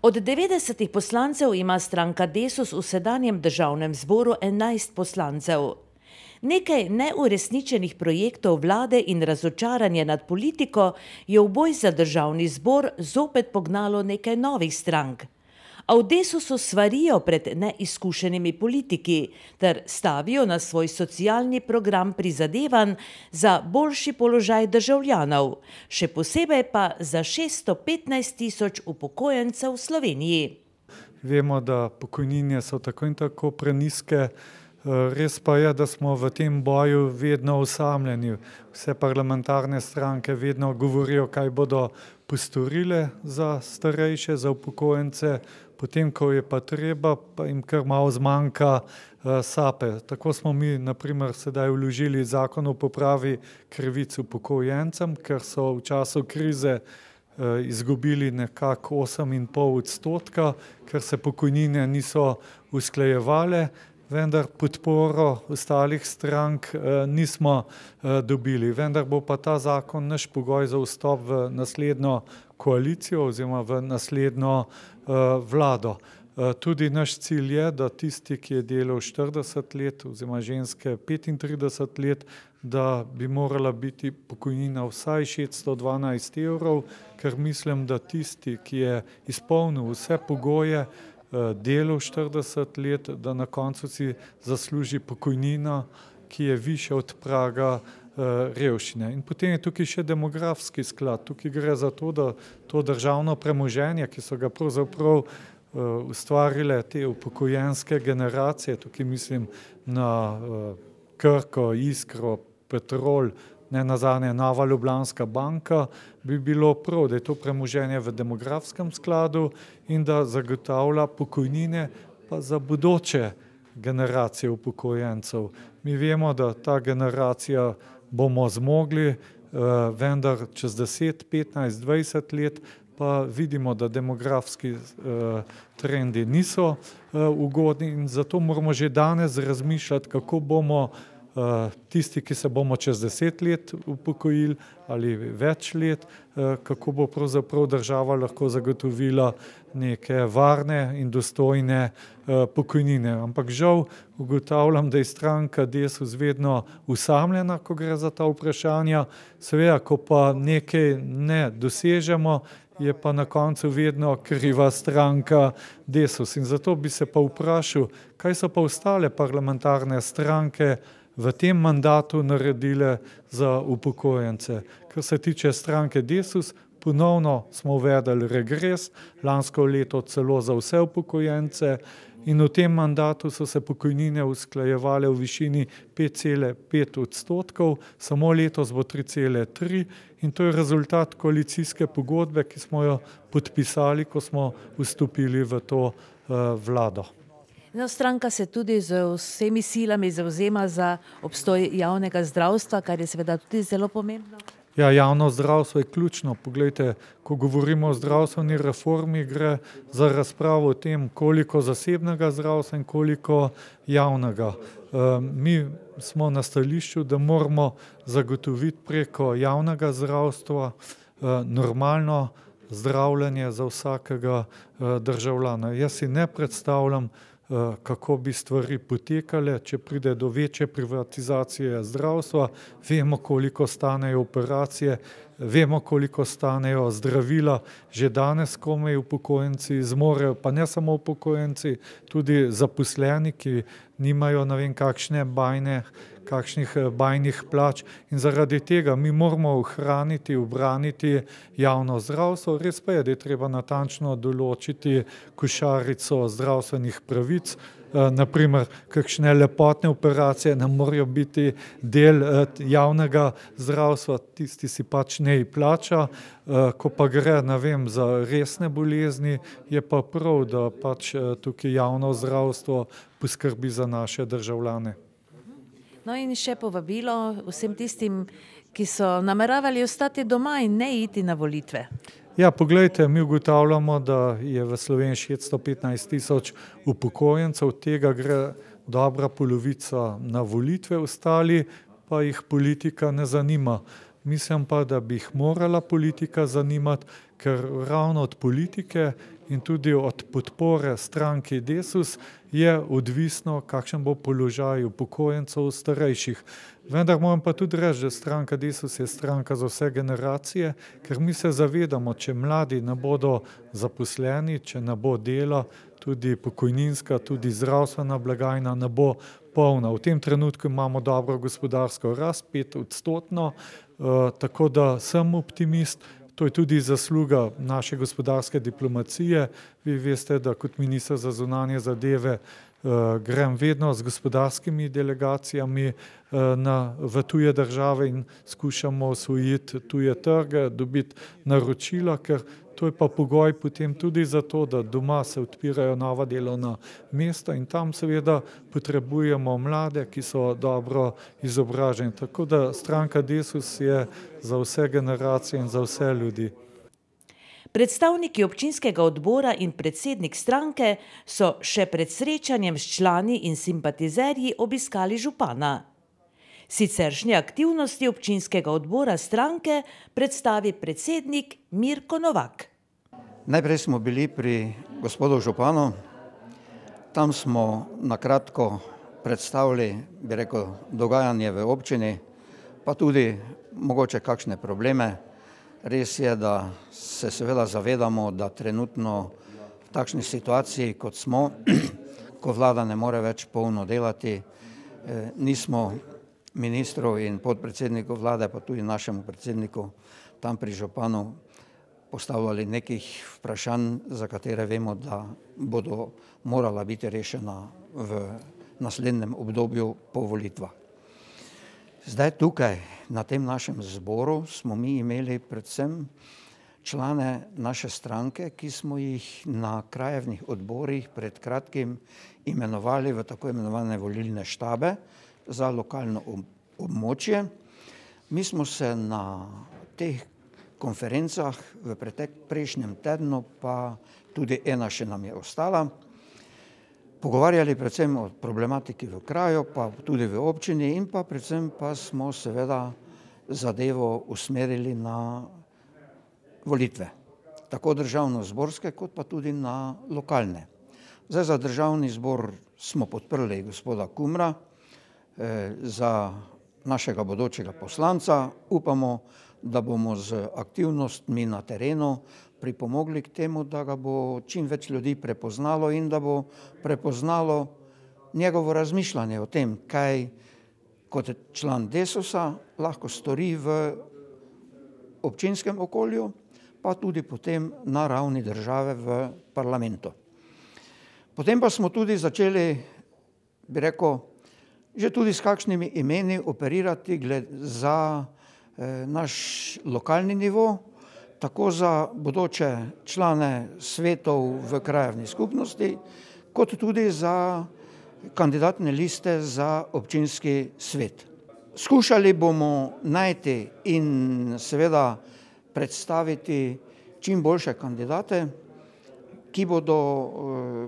Od 90 poslancev ima stranka Desus v sedanjem državnem zboru 11 poslancev. Nekaj neuresničenih projektov vlade in razočaranje nad politiko je v boj za državni zbor zopet pognalo nekaj novih strank. A v Desusu svarijo pred neizkušenimi politiki ter stavijo na svoj socialni program prizadevanj za boljši položaj državljanov, še posebej pa za 615 tisoč upokojencev v Sloveniji. Vemo, da pokojnine so tako in tako prenizke. Res pa je, da smo v tem boju vedno osamljeni. Vse parlamentarne stranke vedno govorijo, kaj bodo postorile za starejše, za upokojence, potem, ko je pa treba, pa jim kar malo zmanjka sape. Tako smo mi, na primer, sedaj vložili zakon o popravi krivic upokojencem, ker so v času krize izgubili nekako 8,5%, ker se pokojnine niso usklajevale, vendar podporo ostalih strank nismo dobili. Vendar bo pa ta zakon naš pogoj za vstop v naslednjo koalicijo oziroma v naslednjo vlado. Tudi naš cilj je, da tisti, ki je delal 40 let oziroma ženske 35 let, da bi morala biti pokojnina vsaj 612 evrov, ker mislim, da tisti, ki je izpolnil vse pogoje, delal 40 let, da na koncu si zasluži pokojnina, ki je višja od praga revščine. In potem je tukaj še demografski sklad. Tukaj gre za to, da to državno premoženje, ki so ga pravzaprav ustvarile te upokojenske generacije, tukaj mislim na Krko, Iskro, Petrol, ne nazadnje Nova Ljubljanska banka, bi bilo prav, da je to premoženje v demografskem skladu in da zagotavlja pokojnine pa za bodoče generacije upokojencev. Mi vemo, da ta generacija bomo zmogli, vendar čez 10, 15, 20 let pa vidimo, da demografski trendi niso ugodni in zato moramo že danes razmišljati, kako bomo tisti, ki se bomo čez 10 let upokojili ali več let, kako bo pravzaprav država lahko zagotovila neke varne in dostojne pokojnine. Ampak žal ugotavljam, da je stranka Desus vedno osamljena, ko gre za ta vprašanja. Seveda, ko pa nekaj ne dosežemo, je pa na koncu vedno kriva stranka Desus. In zato bi se pa vprašal, kaj so pa ostale parlamentarne stranke v tem mandatu naredile za upokojence. Kar se tiče stranke Desus, ponovno smo uvedli regres, lansko leto celo za vse upokojence in v tem mandatu so se pokojnine usklajevale v višini 5,5%, samo letos bo 3,3% in to je rezultat koalicijske pogodbe, ki smo jo podpisali, ko smo vstopili v to vlado. Stranka se tudi z vsemi silami zavzema za obstoj javnega zdravstva, kar je seveda tudi zelo pomembno. Ja, javno zdravstvo je ključno. Poglejte, ko govorimo o zdravstveni reformi, gre za razpravo o tem, koliko zasebnega zdravstva in koliko javnega. Mi smo na stališču, da moramo zagotoviti preko javnega zdravstva normalno zdravljenje za vsakega državljana. Jaz si ne predstavljam, kako bi stvari potekale, če pride do večje privatizacije zdravstva. Vemo, koliko stanejo operacije, vemo, koliko stanejo zdravila. Že danes komaj upokojenci zmorejo, pa ne samo upokojenci, tudi zaposleni, ki nimajo ne vem kakšnih bajnih plač in zaradi tega mi moramo ohraniti, ubraniti javno zdravstvo. Res pa je, da je treba natančno določiti košarico zdravstvenih pravic. Naprimer, kakšne lepotne operacije ne morejo biti del javnega zdravstva, tisti si pač ne plača. Ko pa gre, ne vem, za resne bolezni, je pa prav, da pač tukaj javno zdravstvo poskrbi za naše državljane. No in še povabilo vsem tistim, ki so nameravali ostati doma in ne iti na volitve. Ja, poglejte, mi ugotavljamo, da je v Sloveniji 615 tisoč upokojencev, od tega gre dobra polovica na volitve, ostali pa jih politika ne zanima. Mislim pa, da bi jih morala politika zanimati, ker ravno od politike in tudi od podpore stranki Desus je odvisno, kakšen bo položaj upokojencev starejših. Vendar moram pa tudi reči, da stranka Desus je stranka za vse generacije, ker mi se zavedamo, če mladi ne bodo zaposleni, če ne bo dela, tudi pokojninska, tudi zdravstvena blagajna ne bo polna. V tem trenutku imamo dobro gospodarsko rast, 5-odstotno, tako da sem optimist. To je tudi zasluga naše gospodarske diplomacije. Vi veste, da kot minister za zunanje zadeve grem vedno z gospodarskimi delegacijami v tuje države in skušamo osvojiti tuje trge, dobiti naročila, ker to je pa pogoj potem tudi za to, da doma se odpirajo nova delovna mesta in tam seveda potrebujemo mlade, ki so dobro izobraženi. Tako da stranka Desus je za vse generacije in za vse ljudi. Predstavniki občinskega odbora in predsednik stranke so še pred srečanjem s člani in simpatizerji obiskali župana. Siceršnje aktivnosti občinskega odbora stranke predstavi predsednik Mirko Novak. Najprej smo bili pri gospodu županu, tam smo na kratko predstavili, bi rekel, dogajanje v občini, pa tudi mogoče kakšne probleme. Res je, da se seveda zavedamo, da trenutno v takšni situaciji, kot smo, ko vlada ne more več polno delati, nismo ministrov in podpredsednikov vlade, pa tudi našemu predsedniku tam pri županu postavljali nekih vprašanj, za katere vemo, da bodo morala biti rešena v naslednjem obdobju po volitvah. Zdaj tukaj, na tem našem zboru, smo mi imeli predvsem člane naše stranke, ki smo jih na krajevnih odborih pred kratkim imenovali v tako imenovane volilne štabe za lokalno območje. Mi smo se na teh konferencah v prejšnjem tednu, pa tudi ena še nam je ostala, pogovarjali predvsem o problematiki v kraju, pa tudi v občini in pa predvsem pa smo seveda zadevo usmerili na volitve, tako državno-zborske kot pa tudi na lokalne. Zdaj za državni zbor smo podprli gospoda Kumra za našega bodočega poslanca. Upamo, da bomo z aktivnostmi na terenu pripomogli k temu, da ga bo čim več ljudi prepoznalo in da bo prepoznalo njegovo razmišljanje o tem, kaj kot član Desusa lahko stori v občinskem okolju, pa tudi potem na ravni države v parlamentu. Potem pa smo tudi začeli, bi rekel, že tudi s kakšnimi imeni operirati za naš lokalni nivo, tako za bodoče člane svetov v krajevni skupnosti, kot tudi za kandidatne liste za občinski svet. Skušali bomo najti in seveda predstaviti čim boljše kandidate, ki bodo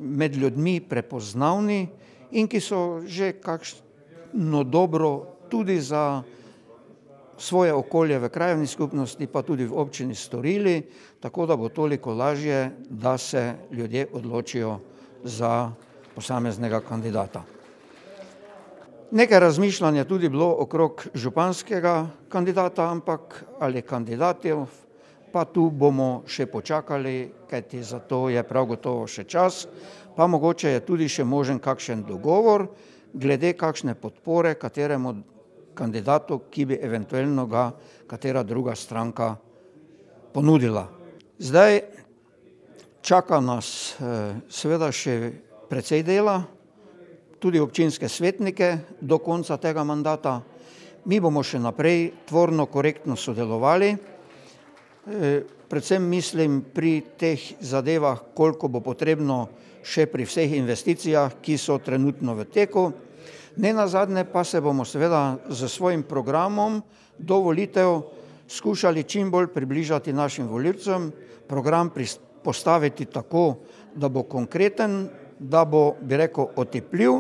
med ljudmi prepoznavni in ki so že kakšno dobro tudi za svoje okolje v krajevni skupnosti, pa tudi v občini storili, tako da bo toliko lažje, da se ljudje odločijo za posameznega kandidata. Nekaj razmišljanja tudi bilo okrog županskega kandidata, ampak ali kandidatov, pa tu bomo še počakali, kajti za to je prav gotovo še čas, pa mogoče je tudi še možen kakšen dogovor glede kakšne podpore kateremu kandidatu, ki bi eventualno ga katera druga stranka ponudila. Zdaj čaka nas seveda še precej dela, tudi občinske svetnike do konca tega mandata. Mi bomo še naprej tvorno, korektno sodelovali, predvsem mislim pri teh zadevah, koliko bo potrebno še pri vseh investicijah, ki so trenutno v teku. Nenazadnje pa se bomo seveda z svojim programom do volitev skušali čim bolj približati našim volivcem, program postaviti tako, da bo konkreten, da bo, bi rekel, otipljiv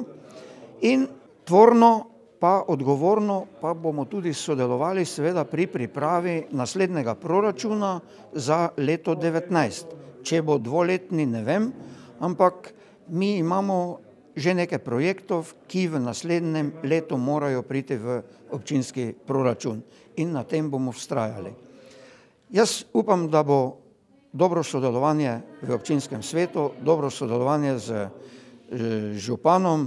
in tvorno pa odgovorno pa bomo tudi sodelovali seveda pri pripravi naslednjega proračuna za leto 2019, če bo dvoletni, ne vem, ampak mi imamo že nekaj projektov, ki v naslednjem letu morajo priti v občinski proračun in na tem bomo vztrajali. Jaz upam, da bo dobro sodelovanje v občinskem svetu, dobro sodelovanje z županom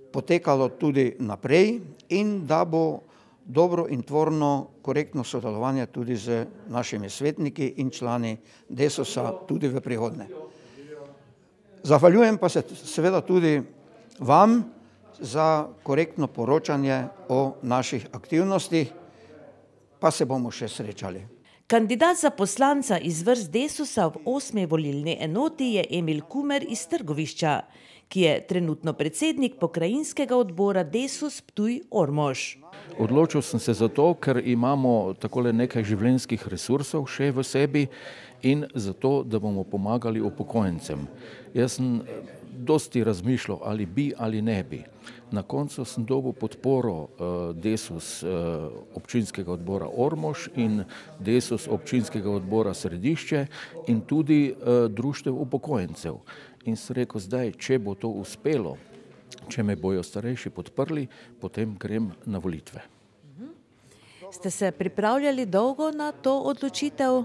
potekalo tudi naprej in da bo dobro in tvorno, korektno sodelovanje tudi z našimi svetniki in člani Desusa tudi v prihodnje. Zahvaljujem pa se seveda tudi vam za korektno poročanje o naših aktivnostih, pa se bomo še srečali. Kandidat za poslanca iz vrst Desusa v 8. volilni enoti je Emil Kumer iz Trgovišča, ki je trenutno predsednik pokrajinskega odbora Desus Ptuj-Ormož. Odločil sem se zato, ker imamo takole nekaj življenjskih resursov še v sebi in zato, da bomo pomagali upokojencem. Jaz sem dosti razmišljal, ali bi ali ne bi. Na koncu sem dobil podporo Desus občinskega odbora Ormož in Desus občinskega odbora Središče in tudi društev upokojencev. In sem rekel, zdaj, če bo to uspelo, če me bojo starejši podprli, potem grem na volitve. Ste se pripravljali dolgo na to odločitev?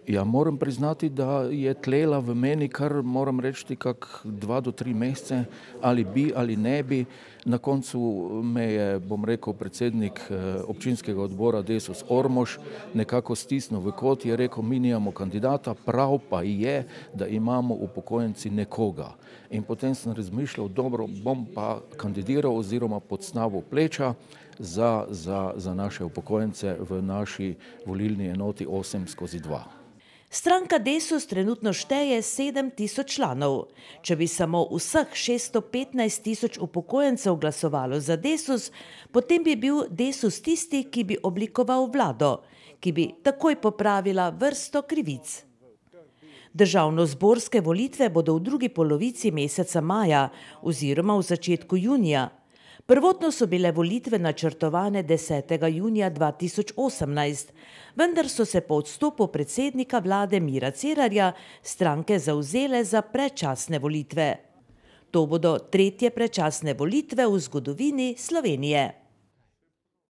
Ja, moram priznati, da je tlela v meni kar, moram reči, kak 2 do 3 mesece, ali bi ali ne bi. Na koncu me je, bom rekel, predsednik občinskega odbora Desus Ormož nekako stisnil v kot, je rekel, mi nimamo kandidata, prav pa je, da imamo upokojenci nekoga. In potem sem razmišljal, dobro, bom pa kandidiral oziroma podsnavil pleča za naše upokojence v naši volilni enoti 8/2. Stranka Desus trenutno šteje 7.000 članov. Če bi samo vseh 615.000 upokojencev glasovalo za Desus, potem bi bil Desus tisti, ki bi oblikoval vlado, ki bi takoj popravila vrsto krivic. Državnozborske volitve bodo v drugi polovici meseca maja oziroma v začetku junija. Prvotno so bile volitve načrtovane 10. junija 2018, vendar so se po odstopu predsednika vlade Mira Cerarja stranke zavzele za predčasne volitve. To bodo 3. predčasne volitve v zgodovini Slovenije.